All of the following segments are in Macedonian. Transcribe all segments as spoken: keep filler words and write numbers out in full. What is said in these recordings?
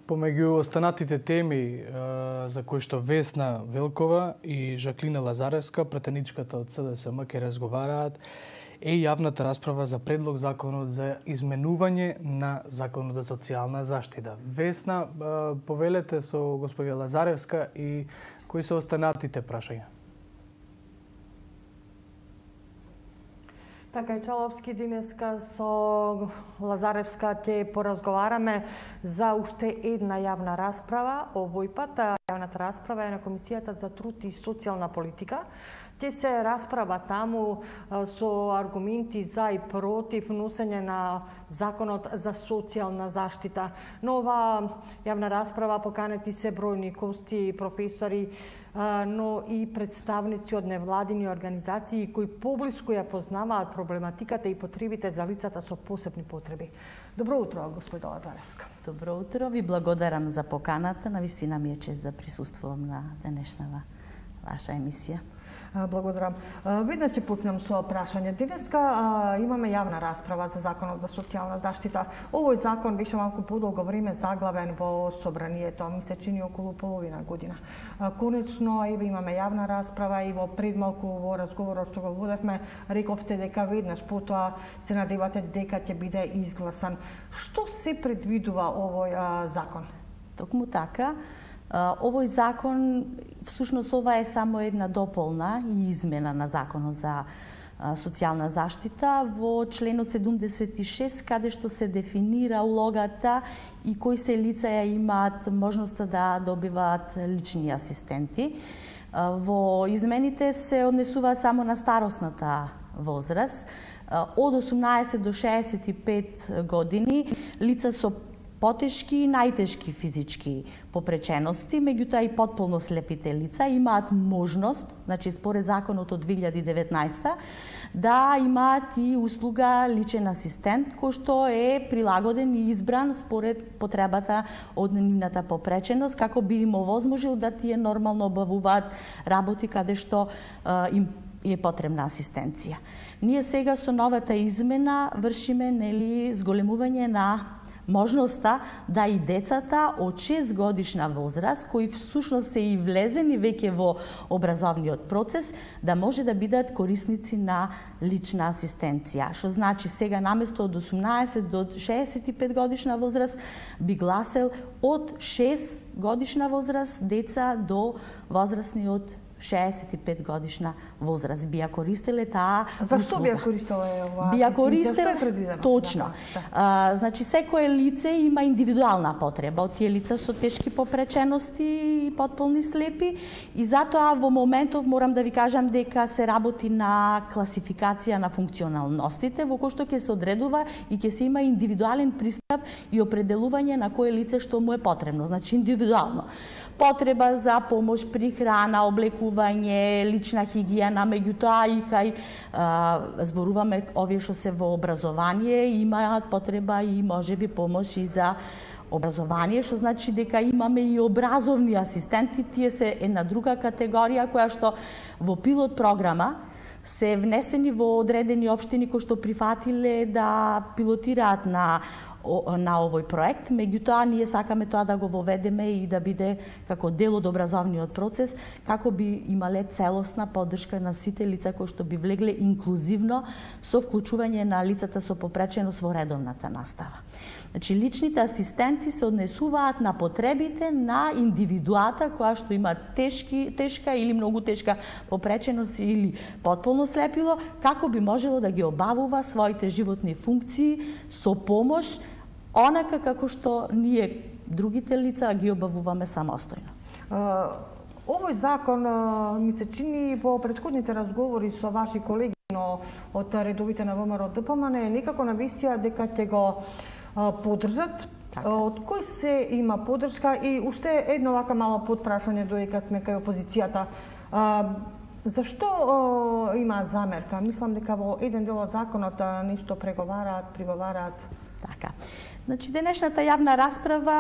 Помеѓу останатите теми за кои што Весна Велкова и Жаклина Лазаревска, претеничката од СДСМ, ќе разговараат, е јавната расправа за предлог законот за изменување на законот за социјална заштита. Весна, повелете со господја Лазаревска и кои се останатите прашања? Така и Чаловски, денеска со Лазаревска ќе поразговараме за уште една јавна расправа. Овој пат јавната расправа е на Комисијата за труд и социјална политика. Ќе се расправа таму со аргументи за и против носење на законот за социјална заштита. Но ова јавна расправа поканети се бројни гости, професори, но и представници од невладини организации кои поблиску ја познаваат проблематиката и потребите за лицата со посебни потреби. Добро утро, господа Лазаревска. Добро утро, ви благодарам за поканата. Навистина ми е чест да присуствувам на денешната ваша емисија. Благодарам. Веднаш ќе почнем со прашање. Денеска имаме јавна расправа за законот за социјална заштита. Овој закон беше малку подолго време заглавен во собранието, ми се чини околу половина година. Конечно, еве имаме јавна расправа и во пред малку во разговорот што го водевме, рековте дека веднаш потоа се надевате дека ќе биде изгласан. Што се предвидува овој закон? Токму така. Овој закон, всушност ова е само една дополна и измена на законот за социјална заштита во членот седумдесет и шест, каде што се дефинира улогата и кои се лица ја имаат можноста да добиваат лични асистенти. Во измените се однесува само на старосната возраст. Од осумнаесет до шеесет и пет години лица со потешки и најтешки физички попречености, меѓутоа и потполно слепите лица имаат можност, значи според законот од две илјади и деветнаесета, да имаат и услуга личен асистент, кој што е прилагоден и избран според потребата од нивната попреченост, како би им овозможил да тие нормално обавуваат работи каде што е, им е потребна асистенција. Ние сега со новата измена вршиме нели зголемување на можноста да и децата од шест годишна возраст, кои всушност се и влезени веќе во образовниот процес, да може да бидат корисници на лична асистенција. Што значи сега наместо од осумнаесет до шеесет и пет годишна возраст би гласел од шест годишна возраст деца до возрастни од шеесет и пет годишна возраст би ја користеле таа услуга. Зашто би ја користеле ова? Би ја користеле точно. Да, да. А, значи секое лице има индивидуална потреба од тие лица со тешки попречености и потполни слепи и затоа во моментов морам да ви кажам дека се работи на класификација на функционалностите во кој што ќе се одредува и ќе се има индивидуален пристап и определување на кое лице што му е потребно, значи индивидуално. Потреба за помош при храна, облекување, лична хигиена, меѓутоа и кај а, зборуваме овие што се во образование, имаат потреба и можеби помош и за образование, што значи дека имаме и образовни асистенти, тие се една друга категорија која што во пилот програма се внесени во одредени општини кои што прифатиле да пилотираат на на овој проект, меѓутоа ние сакаме тоа да го воведеме и да биде како дел од образовниот процес, како би имале целосна поддршка на сите лица кои што би влегле инклузивно со вклучување на лицата со попреченост во редовната настава. Значи личните асистенти се однесуваат на потребите на индивидуата која што има тешки, тешка или многу тешка попреченост или потполно слепило, како би можело да ги обавува своите животни функции со помош онака како што ние другите лица ги обавуваме самостојно. Овој закон ми се чини во претходните разговори со ваши колеги од редовите на ВМРО ДПМН е некако навистија дека ќе го поддржат. Така. Од кој се има поддршка и уште едно вака мало подпрашање додека сме кај опозицијата. Зашто о, има замерка? Мислам дека во еден дел од законот нешто преговараат, приговараат. Така. Значи, денешната јавна расправа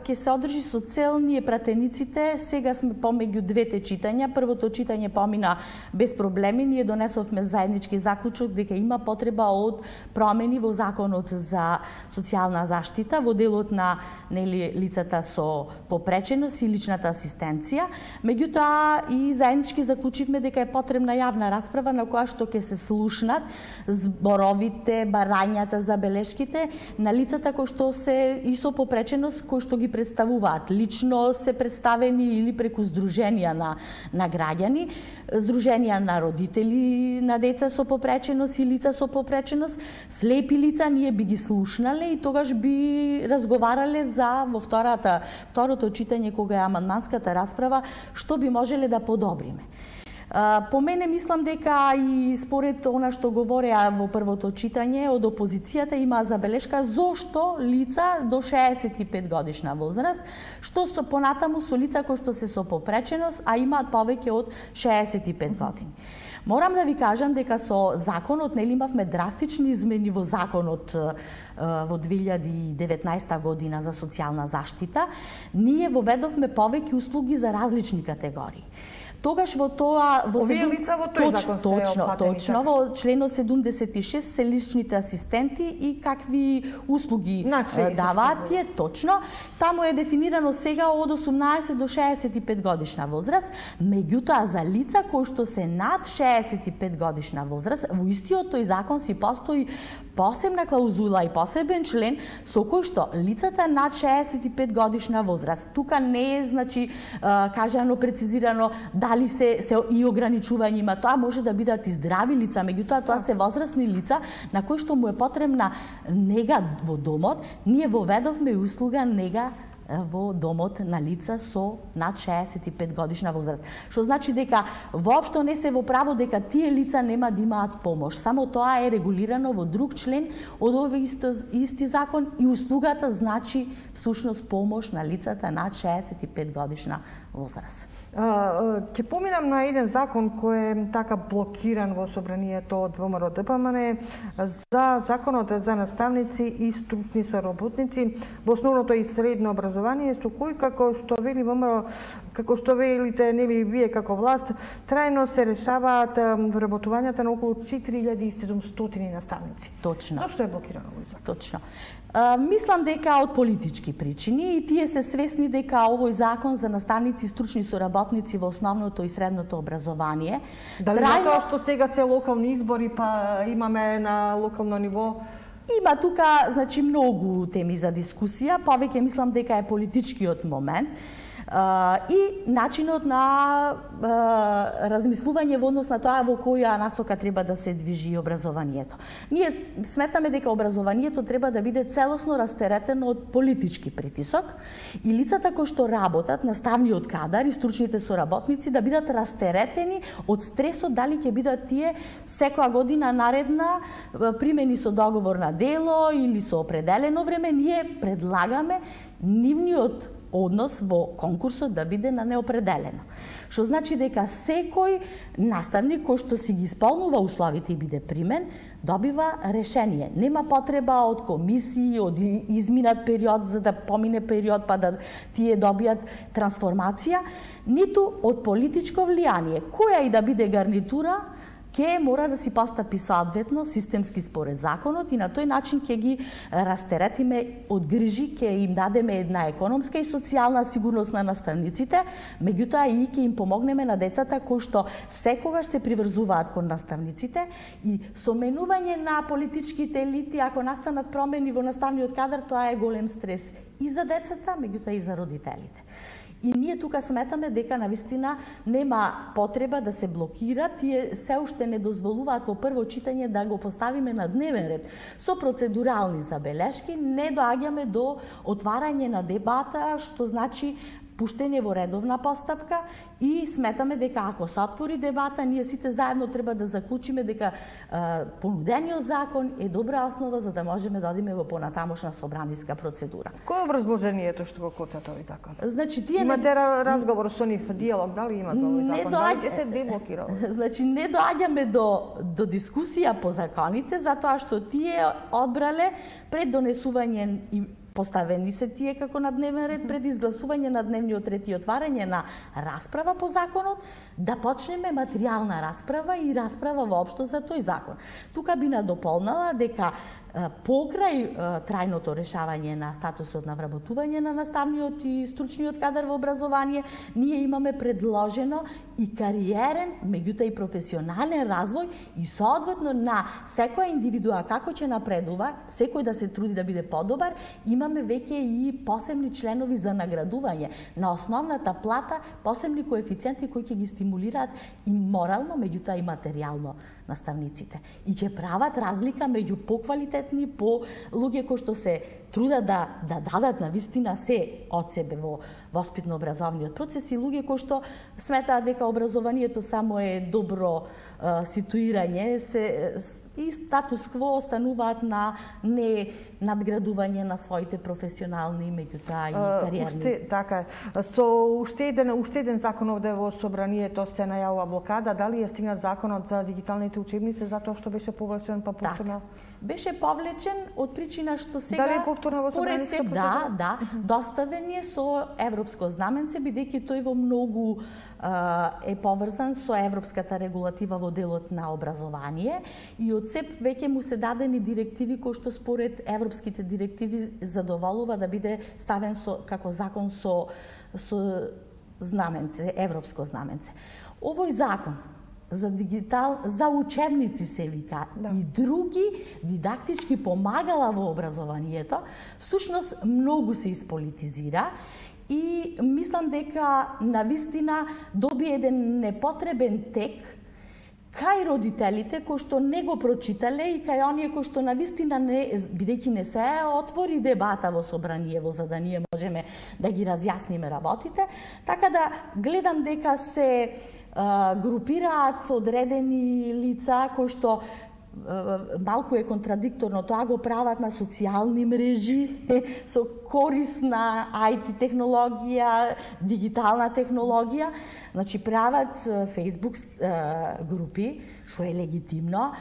ќе се одржи со цел ние пратениците. Сега сме помеѓу двете читања. Првото читање помина без проблеми. Ние донесовме заеднички заклучок дека има потреба од промени во Законот за социјална заштита, во делот на нели лицата со попреченост и личната асистенција. Меѓутоа и заеднички заклучивме дека е потребна јавна расправа на која што ќе се слушнат зборовите, барањата, забелешките на лицата кои што се и со попреченост, кои што ги представуваат. Лично се представени или преку здруженија на, на граѓани, здруженија на родители на деца со попреченост и лица со попреченост, слепи лица, ние би ги слушнале и тогаш би разговарале за во втората, второто читање кога е амандманската расправа, што би можеле да подобриме. По мене мислам дека и според она што говореа во првото читање од опозицијата има забелешка зошто лица до шеесет и пет годишна возраст, што со понатаму со лица кои што се со попреченост, а имаат повеќе од шеесет и пет години. Морам да ви кажам дека со законот нели имавме драстични измени во законот во две илјади и деветнаесета година за социјална заштита. Ние воведовме повеќе услуги за различни категории. Тогаш во тоа во Овие лица во тој закон се точно, опатени, точно во членот седумдесет и шест се личните асистенти и какви услуги значи, даваат тие точно. Таму е дефинирано сега од осумнаесет до шеесет и пет годишна возраст, меѓутоа за лица кои што се над шеесет и пет годишна возраст, во истиот тој закон си постои посебна клаузула и посебен член со кој што лицата над шеесет и пет годишна возраст, тука не е значи кажано прецизирано дали се се и ограничување има, тоа може да бидат и здрави лица, меѓутоа тоа се возрастни лица на кои што му е потребна нега во домот. Ние воведовме услуга нега во домот на лица со над шеесет и пет годишна возраст. Што значи дека воопшто не се во право дека тие лица нема да имаат помош. Само тоа е регулирано во друг член од овој исто, исти закон и услугата значи всушност помош на лицата над шеесет и пет годишна возраст. Ќе поминам на еден закон кој е така блокиран во собранието од ВМРО Д П М Н за законот за наставници и стручни соработници во основното и средно образование, со кој како што вели ВМРО, како што велите нели вие како власт, трајно се решаваат вработувањата на околу четири илјади и седумстотини наставници. Точно. Зошто е блокирано овој закон? Точно. А, мислам дека од политички причини и тие се свесни дека овој закон за наставници и стручни соработници во основното и средното образование Дали трајно... затоа што сега се локални избори па имаме на локално ниво? Има тука значи многу теми за дискусија, повеќе мислам дека е политичкиот момент. Uh, и начинот на uh, размислување во однос на тоа во која насока треба да се движи образованието. Ние сметаме дека образованието треба да биде целосно растеретено од политички притисок и лицата кои што работат, наставниот кадар и стручните соработници да бидат растеретени од стресот дали ќе бидат тие секоја година наредна примени со договор на дело или со определено време. Ние предлагаме нивниот однос во конкурсот да биде на неопределено. Што значи дека секој наставник кој што си ги исполнува условите и биде примен, добива решение. Нема потреба од комисии, од изминат период за да помине период па да тие добијат трансформација, ниту од политичко влијание. Која и да биде гарнитура, ќе мора да си постапи соодветно системски според законот и на тој начин ќе ги растеретиме од грижи, ќе им дадеме една економска и социјална сигурност на наставниците, меѓутоа и ќе им помогнеме на децата кои што секогаш се приврзуваат кон наставниците и со менување на политичките елити, ако настанат промени во наставниот кадар, тоа е голем стрес и за децата, меѓутоа и за родителите. И ние тука сметаме дека навистина нема потреба да се блокира, тие се уште не дозволуваат во прво читање да го поставиме на дневен ред. Со процедурални забелешки не доаѓаме до отварање на дебата, што значи пуштење во редовна постапка и сметаме дека ако се отвори дебата, ние сите заедно треба да заклучиме дека а, понудениот закон е добра основа за да можеме да одиме во понатамошна собраниска процедура. Кој е образложението што го коца тој закон? Значи тие имате не... разговор со нив, диалог, дали имате овој закон? Доаѓа... Дали ќе се деблокира? Значи не доаѓаме до до дискусија по законите затоа што тие одбрале пред донесување и поставени се тие како на дневен ред пред изгласување на дневниот ред и отварање на расправа по законот, да почнеме материјална расправа и расправа воопшто за тој закон. Тука би надополнала дека покрај трајното решавање на статусот на вработување на наставниот и стручниот кадар во образование, ние имаме предложено и кариерен, меѓутоа и професионален развој и соодветно на секоја индивидуа како ќе напредува, секој да се труди да биде подобар, имаме веќе и посебни членови за наградување на основната плата, посебни коефициенти кои ќе ги стимулираат и морално, меѓутоа и материјално наставниците. И ќе прават разлика меѓу поквалитетни, по луѓе кои што се трудат да да дадат на вистина се од себе во воспитно-образовниот процес и луѓе кои што сметаат дека образованието само е добро е, ситуирање, се и статус кво остануваат на не надградување на своите професионални, меѓутоа и кариерни. Уште, така, со уште еден, уште еден закон овде во собранието се најавува блокада, дали е стигнат законот за дигиталните учебници затоа што беше повлечен па повторно? Беше повлечен од причина што сега дали е повторно во според се да, да, доставен е со европско знаменце, бидејќи тој во многу е поврзан со европската регулатива во делот на образование и од СЕП веќе му се дадени директиви кои што според европските директиви задоволува да биде ставен со како закон со со знаменце, европско знаменце. Овој закон за дигитал за учебници се вика да. И други дидактички помагала во образованието, всушност многу се исполитизира и мислам дека навистина доби еден непотребен тек кај родителите кои што не го прочитале и кај оние кои што навистина не, бидејќи не се отвори дебата во собраниево за да ние можеме да ги разјасниме работите, така да гледам дека се а, групираат одредени лица кои што малку е контрадикторно, тоа го прават на социјални мрежи со корисна ај ти технологија, дигитална технологија, значи прават Facebook групи, што е легитимно,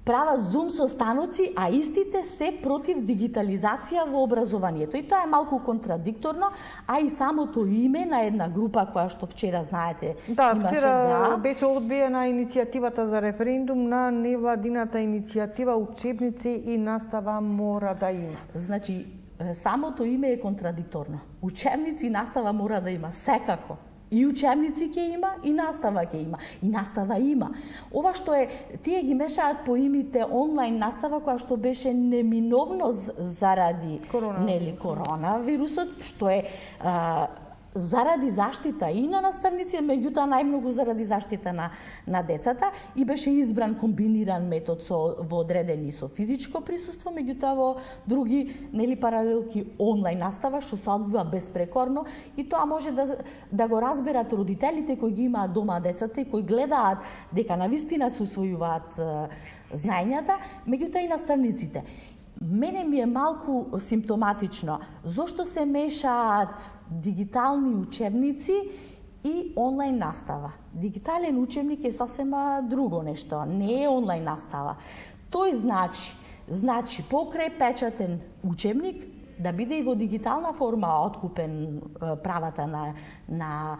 прават Zoom состаноци, а истите се против дигитализација во образованието. И тоа е малку контрадикторно, а и самото име на една група која што вчера знаете да, имаше вчера да беше одбиена иницијативата за референдум на невладината иницијатива учебници и настава мора да има. Значи самото име е контрадикторно. Учебници и настава мора да има секако. И учебници ќе има, и настава ќе има. И настава има. Ова што е, тие ги мешаат по имите онлайн настава, која што беше неминовно заради корона, нели, коронавирусот, што е а, заради заштита и на наставници, меѓутоа најмногу заради заштита на, на децата и беше избран комбиниран метод со, во одредени со физичко присуство, меѓутоа во други нели паралелки онлайн настава што се одвива безпрекорно и тоа може да, да го разберат родителите кои ги имаат дома децата и кои гледаат дека навистина се усвојуваат знаењата, меѓутоа и наставниците. Мене ми е малку симптоматично зошто се мешаат дигитални учебници и онлайн настава. Дигитален учебник е сосема друго нешто, не е онлайн настава. Тој значи, значи покрај печатен учебник да биде и во дигитална форма откупен правата на на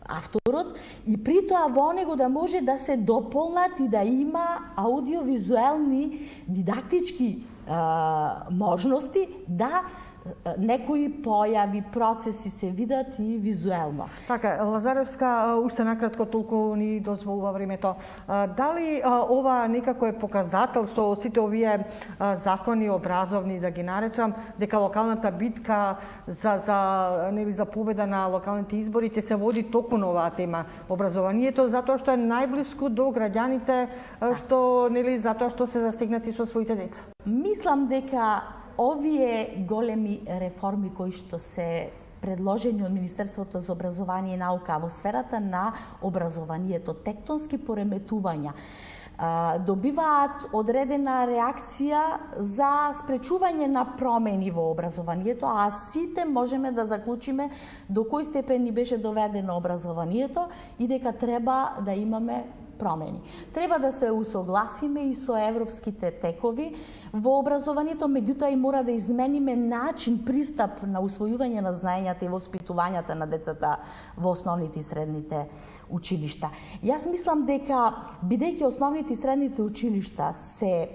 авторот и при тоа во него да може да се дополнат и да има аудиовизуелни дидактички а, можности да некои појави, процеси се видат и визуелно. Така, Лазаревска, уште накратко толку ни дозволува времето. Дали ова некако е показател со сите овие закони образовни, да ги наречам, дека локалната битка за за нели за победа на локалните избори ќе се води токму на оваа тема образованието, затоа што е најблиску до граѓаните, што нели затоа што се засегнати со своите деца. Мислам дека овие големи реформи кои што се предложени од Министерството за образование и наука во сферата на образованието, тектонски пореметувања, добиваат одредена реакција за спречување на промени во образованието, а сите можеме да заклучиме до кој степен ни беше доведено образованието и дека треба да имаме промени. Треба да се усогласиме и со европските текови во образованието, меѓутоа и мора да измениме начин, пристап на усвојување на знаењата и воспитувањата на децата во основните и средните училишта. Јас мислам дека, бидејќи основните и средните училишта се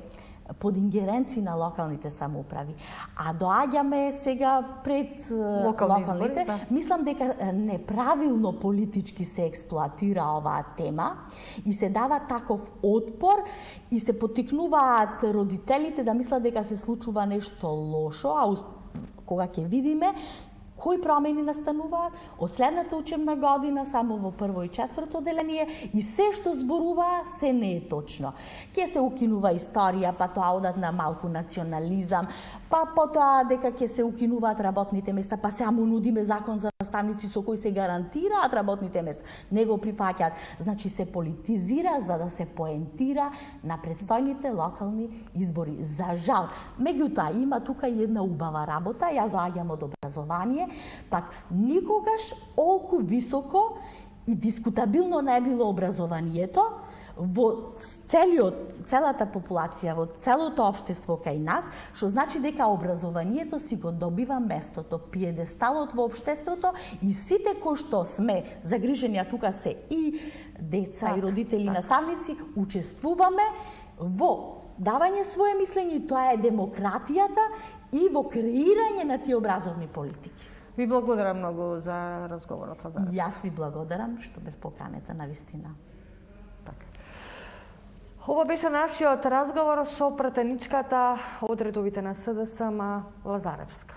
под ингеренција на локалните самоуправи, а доаѓаме сега пред локални локалните, избори, да. Мислам дека неправилно политички се експлоатира оваа тема и се дава таков отпор и се поттикнуваат родителите да мислат дека се случува нешто лошо, а кога ќе видиме кои промени настануваат од следната учебна година само во прво и четврто одделение и се што зборува се не е точно. Ќе се укинува историја, па тоа одат на малку национализам, па потоа дека ќе се укинуваат работните места, па сега му нудиме закон за наставници со кој се гарантираат работните места. Не го прифаќаат. Значи се политизира за да се поентира на предстојните локални избори. За жал. Меѓутоа има тука и една убава работа, јас заоѓам од образование, пак никогаш олку високо и дискутабилно не било образованието во целиот, целата популација, во целото општество кај нас, што значи дека образованието си го добива местото, пиедесталот во општеството и сите кои што сме загрижени, а тука се и деца, так, и родители, так, наставници, учествуваме во давање свое мислење, тоа е демократијата и во креирање на тие образовни политики. Ви благодарам многу за разговорот. Јас ви благодарам што бев поканета на вистина. Така. Ова беше нашиот разговор со пратеничката од редовите на СДСМ Лазаревска.